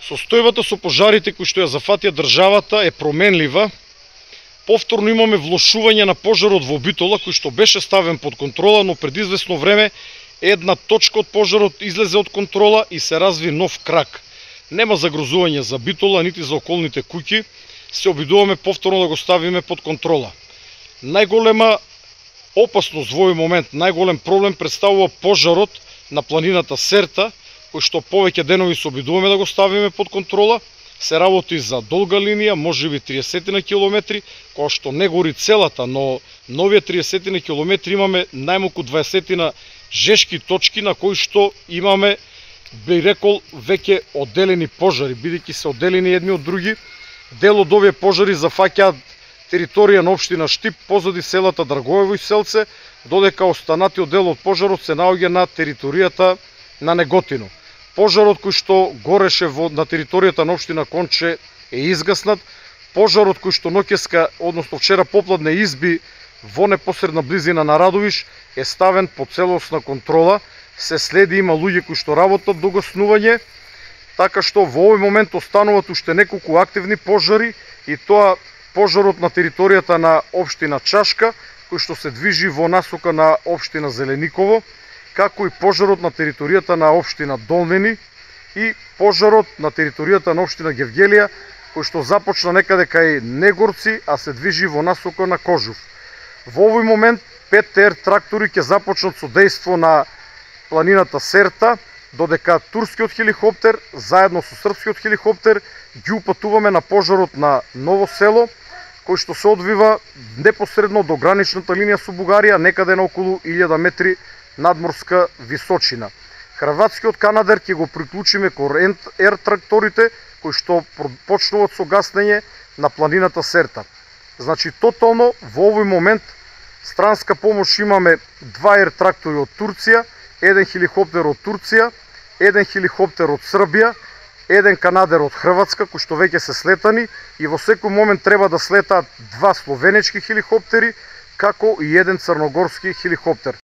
Состојбата со пожарите кои што ја зафатија државата е променлива. Повторно имаме влошување на пожарот во Битола, кој што беше ставен под контрола, но пред известно време една точка од пожарот излезе од контрола и се разви нов крак. Нема загрозување за Битола, нити за околните куќи. Се обидуваме повторно да го ставиме под контрола. Најголема опасност во овој момент, најголем проблем представува пожарот на планината Серта, кој што повеќе денови се обидуваме да го ставиме под контрола. Се работи за долга линија, можеби 30 на километри, која што не гори целата, но новија 30 на километри имаме најмалку 20 на жешки точки на кои што имаме, би рекол, веќе одделени пожари, бидејќи се одделени едни од други. Дел од овие пожари зафаќаат територија на општина Штип, позади селата Драгоево и Селце, додека останатиот дел од пожарот се наоѓа на територијата на Неготино. Пожарот кој што гореше на територијата на општина Конче е изгаснат. Пожарот кој што ноќеска, односно вчера попладне изби во непосредна близина на Радовиш е ставен под целосна контрола. Се следи, има луѓе кои што работат до гаснување, така што во овој момент остануваат уште неколку активни пожари, и тоа пожарот на територијата на општина Чашка, кој што се движи во насока на општина Зелениково, како и пожарот на територијата на општина Долнени и пожарот на територијата на општина Гевгелија, кој што започна некаде кај Негорци, а се движи во насока на Кожув. Во овој момент 5 ТР трактори ќе започнат со дејство на планината Серта, додека турскиот хеликоптер заедно со српскиот хеликоптер ги упатуваме на пожарот на Ново село, кој што се одвива непосредно до граничната линија со Бугарија, некаде на околу 1000 метри надморска височина. Хрватскиот канадер ќе го приклучиме кон ер тракторите кои што почнуваат со гаснење на планината Серта. Значи, тотално во овој момент странска помош имаме 2 ер трактори од Турција, 1 хеликоптер од Турција, 1 хеликоптер од Србија, 1 канадер од Хрватска, кои што веќе се слетани, и во секој момент треба да слетаат 2 словенечки хеликоптери, како и 1 црногорски хеликоптер.